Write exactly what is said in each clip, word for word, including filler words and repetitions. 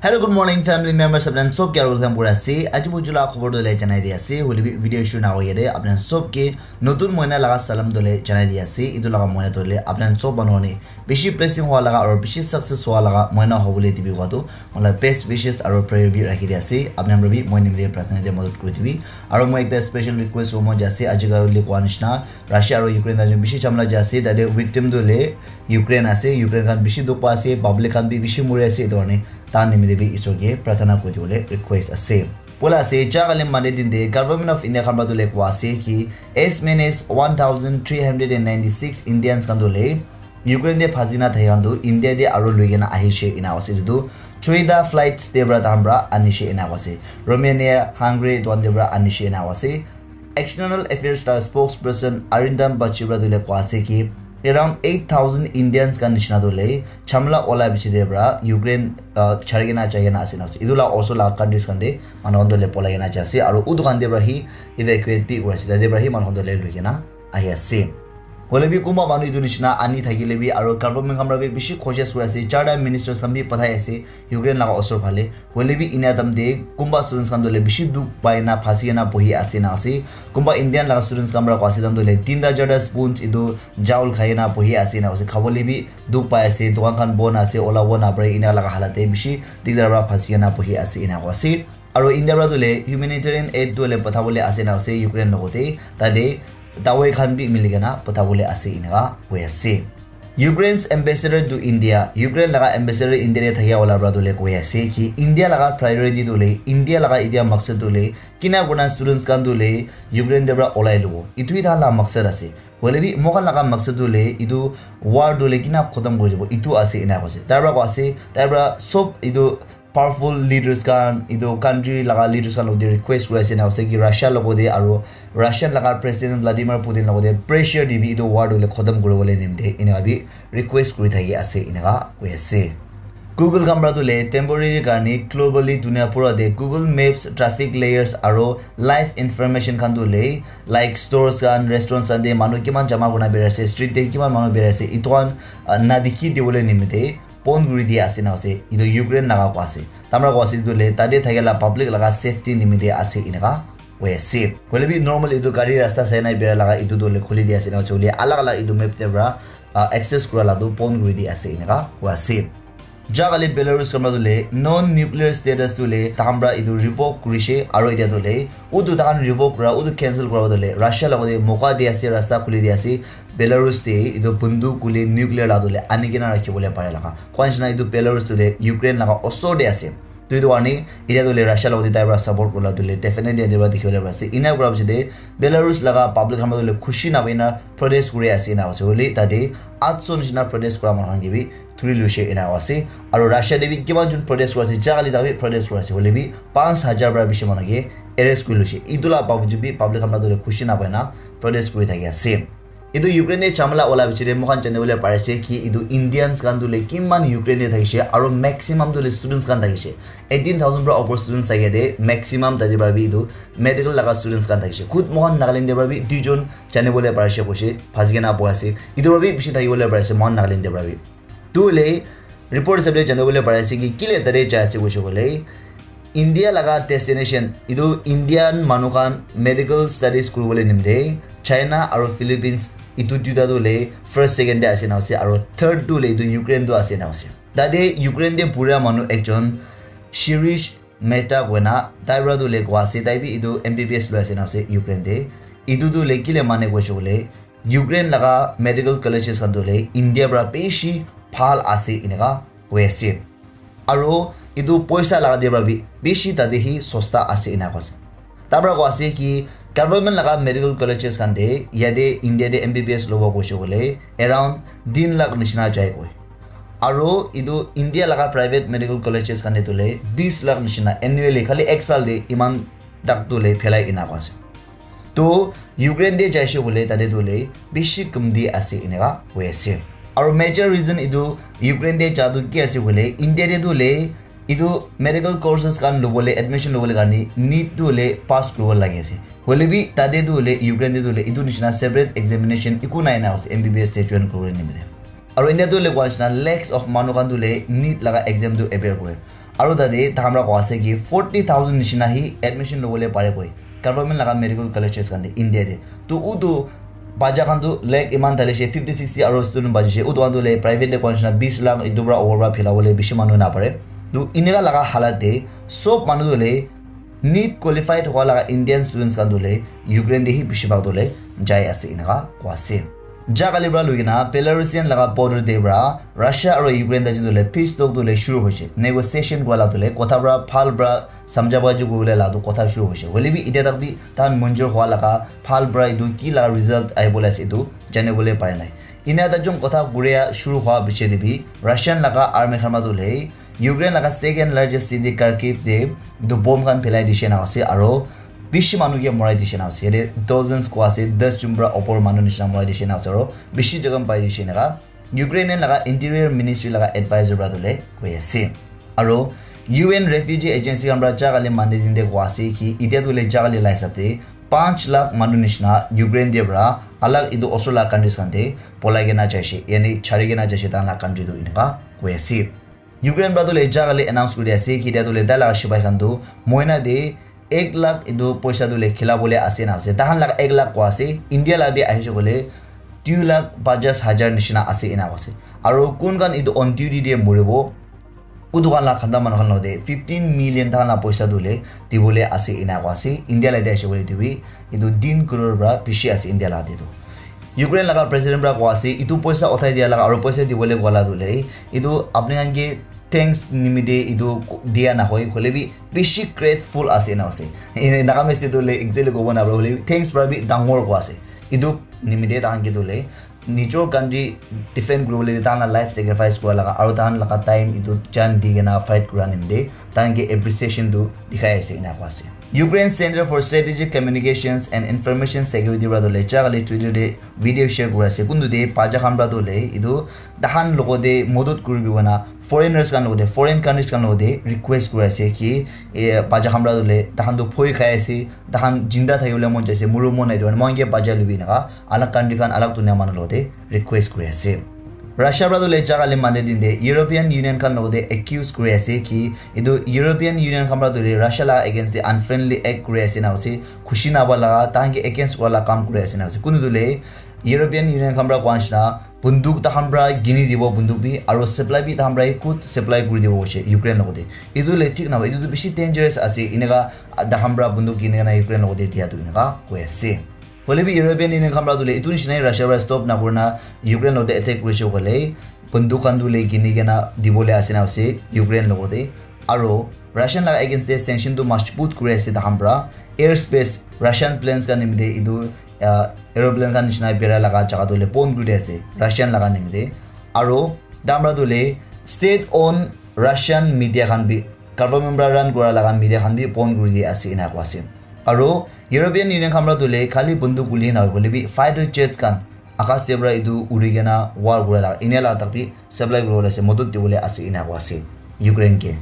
Hello, good morning, family members. Apnan sob ke welcome kuri ase. Aji buju la khobor dole janai di ase. Hoile bi video shuru na hoye de. Apnan sob ke notun moina laga salam dole janai di ase. Itu laga moina dole apnan sob manu ne bishi blessing hua laga aru bishi success hua laga moina hobole dibi hua tu. Mola best wishes aru prayer bi rakhi di ase. Apnan bi moi nimite prarthana de madad kuri dibi. Aru moi ekta special request hobo mon jai ase. Aji kali koi nishina Russia aru Ukraine ta bishi jhamla jai ase. Tate victim tu le Ukraine ase. Ukraine khan bishi dukh pa ase. Public khan bi bishi muri ase. Itu karne ta nimite bi Isor ke prarthana kuri dibole request ase. Bola ase, ja kali Monday din de Government of India khan para tu le koi ase ki as many as one thousand three hundred and ninety-six Indians khan tu le Ukraine de phasi na thai khan tu India de aru lui kena ahi she ena ase. Itu tu three ta flights de para tahan para ani she ena ase. Romania, Hungary, tuan de para ani she ena ase. External Affairs la spokesperson Arindam Bagchi para tu le koi ase ki around eight thousand Indians khan nishina tu le jhamla ola bichi de para Ukraine, uh, chari kena jai kena ase na ase. Itu la also la countries khan de manu khan tu le polai kena jai ase. Aru utu khan de para hi evacuate bi kuri ase. Tate para hi manu khan tu le lui kena ahi ase. Hoile bi kunba manu itu nishina ani thakile bi aru government khan para bi bishi cautious kuri ase. Charta ministers khan bi pathai ase Ukraine laga osor phale. Hoile bi ena time te kunba students khan tu le bishi dukh pai na phasi kena bohi ase na ase. Kunba Indian laga students khan para koi ase, tahan tu le tinta charta spoons itu chawl khai kena bohi ase na ase. Khabole bi dukh pai ase, dukan khan bon ase, ola bo na pare, ena laga halat te bishi dikdar para phasi kena bohi ase ena koi ase. Aru India para tu le humanitarian aid tu le pathabole ase na ase Ukraine logote, tate dawai khan bi mili kena pathabole ase eneka koi ase. Ukraine's ambassador to India, Ukraine laga ambassador India te thakia wala para tu le koi ase ki India laga priority tu le, India laga itia maksad tu le, kina kurna students khan tu le Ukraine te para olai lobo. Itu hi tahan la maksad ase. Hoile bi moikhan laga maksad tu le itu war tu le kina khotom kuri jabo, itu ase ena koi ase. Tai para koi ase, tai para sob itu powerful leaders khan, itu country laga leaders khan logote request kuri ase na ase ki Russia logote aru Russian laga president Vladimir Putin logote pressure dibi itu war tu le khotom kuribole nimite eneka bi request kuri thaki ase eneka koi ase. Google khan para tu le temporary karne globally dunia pura te Google Maps traffic layers aru live information khan tu le like stores khan, restaurants khan te manu kiman jama kurna bera ase, street te kiman manu bera ase, itu khan, ah, na dikhi dibole nimite pon kuri dia ase na ase. Itu Ukraine laga koi ase. Tai para koi ase itu le tate thakia la public laga safety nimite ase eneka koi ase. Hoile bi normal itu gari rasta sai na bera laga itu tu le khuli dia ase na ase. Hoile alag alag itu map te para, ah, access kura la tu pon kuri dia ase eneka koi ase. Ja kali Belarus khan para tu le non nuclear status tu le tahan para itu revoke kurishe aru itia tu le utu tahan revoke kura, utu cancel kura tu le Russia logote moka di ase, rasta khuli di ase Belarus te itu bunduk kule nuclear la tu le ani kena rakhi bole pare laga. Koi nishina itu Belarus tu le Ukraine laga osor te ase. Tu itu karne itia tu le Russia logote tai para support kura la tu le definitely yate para dikhi bole pare ase. Ena kura piche te Belarus laga public khan tu le khushi na pai na protest kuri ase na ase. Hoile tate atso nishina protest kura manu khan ke bi thuri luishe ena ase. Aru Russia te bi kiman jun protest kuri ase, ja kali ta bi protest kuri ase. Hoile bi panch hajar para bishi manu ke arrest kuri luishe. Itu la bawajud bi public khan para tu le khushi na pai na protest kuri thaki ase. Itu Ukraine te jhamla ola biche te moikhan jani bole pari ase ki itu Indians khan tu le kiman Ukraine te thakishe aru maximum tu le students khan thakishe. Eighteen thousand para upor students thake de maximum tate para bi itu medical laga students khan thakishe. Khud moikhan Nagaland te para bi duijon jani bole pari ase koishe phasi kena bohi ase. Itu para bi bishi thaki bole pari ase moikhan Nagaland te para bi. Tu le report hisab te jani bole pari ase ki kile tate jai ase koishe koile India laga destination itu Indian manu khan medical studies kuribole nimite China aru Philippines itu duita tu le first second te ase na ase aru third tu le itu Ukraine tu ase na ase. Tate Ukraine te pura manu ekjon Shirish Mehta koina tai para tu le koi ase, tai bi itu M B B S loi ase na ase Ukraine te. Itu tu le kile mane koishe koile Ukraine laga medical colleges khan tu le India para bishi bhal ase eneka koi ase. Aru itu poisa laga te para bi bishi tate hi sosta ase ena koi ase. Tai para koi ase ki government laga medical colleges khan te yate India te M B B S lobo koishe koile around tin lakh nishina jai koi. Aru itu India laga private medical colleges khan te tu le bis lakh nishina annually khali ek saal te iman tak tu le phelai ena koi ase. To Ukraine te jaise koile tate tu le bishi kumti ase eneka koi ase. Aru major reason itu Ukraine te ja tu ki ase koile India te tu le itu medical courses khan lobole admission lobole karne NEET tu le pass kuribo lagi ase. Hoile bi tate tu le Ukraine te tu le itu nishina separate examination eku nai na ase M B B S te join kuribole nimite. Aru India tu le koi nishina lakhs of manu khan tu le NEET laga exam tu appear kore. Aro tate takhan pra koa ase ki forty thousand nishina hi admission lobole pare koi government laga medical colleges khan te India te. To utu bacha khan tu lakh iman thalishe, fifty sixty aro student bachishe, utu khan tu le private te koa nishina bis lakh etu pra over pra phila bole bishi manu na pare. To inika laga halat te sob manu tu le NEET qualified hoa laga Indian students khan tu le Ukraine te hi bishi bhag tu le jai ase inika koa ase. Ja kali pra lui kena Belarusian laga border te pra Russia aro Ukraine ta jin tu le peace talk tu le shuru hoise, negotiation kura la tu le kotha pra phal pra samjha ba ju kule la tu kotha shuru hoise. Hoile bi itia tak bi tan manjur hoa laga phal pra etu ki laga result ahi bole ase etu jani bole pare nai. Ina ta jong kotha kuria shuru hoa piche te bi Russian laga army khan ma tu le Ukraine laga second largest city Kharkiv te etu bomb khan phelai dishe na ase aro bishi manu ke morai dishe na ase. Yate dozens koa ase, das jun pra opor manu nishina morai dishe na ase aro bishi jaga pai dishe na ka Ukrainian laga interior ministry laga advisor pra tu le koi ase. Aro U N refugee agency khan pra ja kali mande din te koa ase ki itia tu le ja kali la hisab te panch lakh manu nishina Ukraine te pra alag etu osor la countries khan te polai kena jaise, yani chari kena jaise tahan la country tu enika koi ase. Ukraine pra tu le ja kali announce kuri ase ki itia tu le tai laga sipai khan tu moina te ek lakh etu poisa tu le khila bole ase na ase. Tahan laga ek lakh koa ase, India la te ahise kole two lakh pajas hajar nishina ase ena koa ase. Aro kun khan etu on duty te moribo, utu khan la khanda manu khan lo te fifteen million tahan la poisa tu le dibole ase ena koa ase. India la te ahise kole etu bi etu tin crore pra bishi ase India la te tu. Ukraine laga president pra koa ase, etu poisa uthai dia laga aro poisa dibole koa la tu le etu apni khan ke thanks nimite etu dia na hoi, hoile bi bishi grateful ase na ase. Ene Nagamese te tu le exactly kobo na pare, hoile bi thanks pra bi dangor koa ase. Etu nimite tahan ke tu le nijor country defend kuribole tahan la life sacrifice kura laga aro tahan laga time etu jan di kena fight kura nimite tahan ke appreciation tu dikhai ase ena koa ase. Ukraine Center for Strategic Communications and Information Security pra tu le ja kali Twitter te video share kura ase. Kuntu te bacha khan pra tu le etu tahan logo te modot kuribi kena foreigners khan logo te, foreign countries khan logo te request kura ase ki e, bacha khan pra tu le tahan tu phoi khai ase, tahan jinda thaki bole mon jaise, muru mon nai tu mohan ke bacha lubi naka alag country khan alag dunia manu logo te request kuri ase. Russia pra tu le ja kali mande din te European Union khan logo te accuse kuri ase ki etu European Union khan pra tu le Russia la against te unfriendly act kuri ase na ase, khushi na ba laga tahan ke against kura la kam kuri ase na ase. Kuntu tu le European Union khan pra koa nishina bunduk tahan pra kini dibo bunduk bi aro supply bi tahan pra hi khud supply kuri dibo hoise Ukraine logo te. Etu le thik na ba, etu tu bishi dangerous ase, eneka tahan pra bunduk kini kena Ukraine logo te dia tu eneka koi ase. Hoile bi European Union khan pra tu le etu nishina Russia pra stop na kurina Ukraine logo te attack kurise koile bunduk khan tu le kini kena dibole ase na ase Ukraine logo te. Aro Russian laga against te sanction tu majbut kuri ase tahan pra. Air space Russian planes khan nimite etu ah, aeroplane khan nishina bera laga jaga tu le bon kuri ase Russian laga nimite. Aro tahan pra tu le state owned Russian media khan bi, government pra run kura laga media khan bi bon kuri di ase ena koa ase. Aro European Union khan pra tu le khali bunduk guli na hoile bi fighter jets khan akas te pra etu uri kena war kura laga enia laga tak bi supply kuribole ase, modot dibole ase ena koa ase Ukraine ke.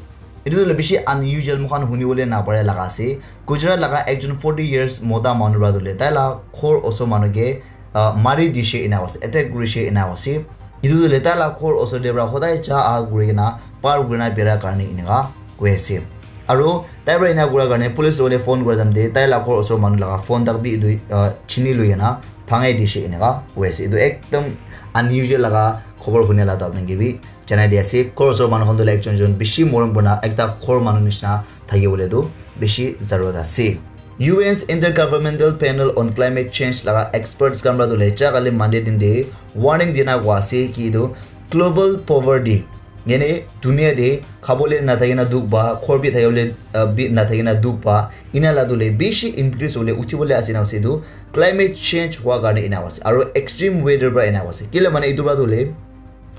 Etu tu le bishi unusual, moikhan huni bole na pare laga ase. Gujarat laga ekjon forty years mota manu pra tu le tai la ghor osor manu ke ah, mari dishe ena koa ase, attack kurishe ena koa ase. Etu tu le tai la ghor osor te pra hodai ja aha kuri kena par kuri na bera karne eneka koi ase. Aro tai pra ena kura karne police logo te phone kura time te tai la ghor osor manu laga phone tak bi etu ah, chini lui kena bhangai dishe eneka koi ase. Etu ekdam unusual laga khobor huni la tu apni ke bi janai di ase. Ghor osor manu khan tu le ekjon jon bishi morom kurina ekta ghor manu nishina thaki bole tu bishi zarurat ase. U N's Intergovernmental Panel on Climate Change laga experts khan pra tu le ja kali mande din te warning dina koa ase ki etu global poverty, yane dunia te khabole na thaki na dukh pa, ghor bi thaki bole ah, bi na thaki na dukh pa, ena la tu le bishi increase hole uthi bole ase na ase etu climate change hua karne ena ase aro extreme weather pra ena ase. Kile mane etu pra tu le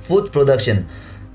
food production,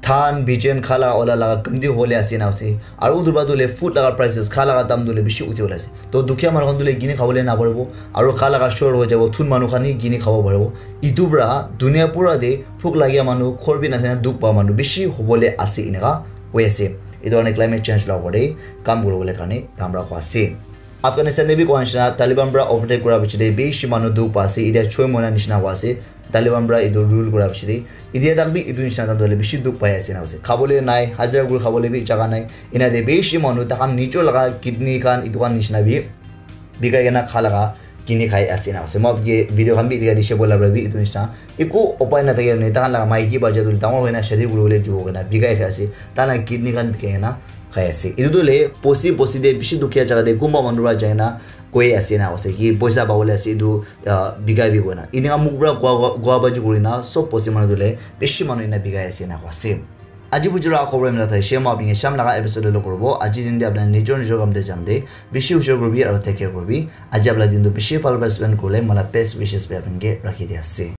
dhan bijen khala ola laga kamti hole ase na ase. Aro utu pra tu le food laga prices, kha laga dam tu le bishi uthi bole ase. To dukhia manu khan tu le kini khabole na paribo. Aro kha laga short hoi jabo, thun manu khan hi kini khabo paribo. Etu pra dunia pura te bhuk lagia manu, ghor bi na thaki na dukh pa manu bishi hobole ase eneka hoi ase. Etu karne climate change la opor te kam kuribole karne dam pra koa ase. Afghanistan te bi koa nishina Taliban pra overtake kura piche te bishi manu dukh pa ase. Etia choi moina nishina hoi ase. Taliban para etu rule kura piche de, etia tak bi etu nishina tan tu hoile bishi dukh pai ase ena ase. Khabole nai, hajira kuri khabole bi jaga nai. Ena de bishi manu takhan nijor laga kidney khan etu khan nishina bi bikai kena kha laga kini khai ase ena ase. Moi apni ke video khan bi etia dikhi bo la para bi etu nishina eku upai na thake ne takhan laga maiki bacha tu dangor hoina shadi kuri bole dibo kena bikai khai ase. Tahan laga kidney khan bikai kena khai ase. Etu tu le bosti bosti de bishi dukhiya jaga de kunba manu para jai na koi ase ena ase ki poisa pabole ase etu, ah, bikai bi koina. Enika muk para koa, koa baji kuri na sob bosti manu tu le bishi manu ena bikai ase ena koa ase. Aji buji laga khobor emla thai, share ma apni ke sham laga episode lo koribo. Aji din de apna nijor nijor kam de jam de. Bishi hushar koribi aro take care koribi. Aji apna din tu bishi bhal para spend kurle, mala best wishes bi apni ke rakhi di ase.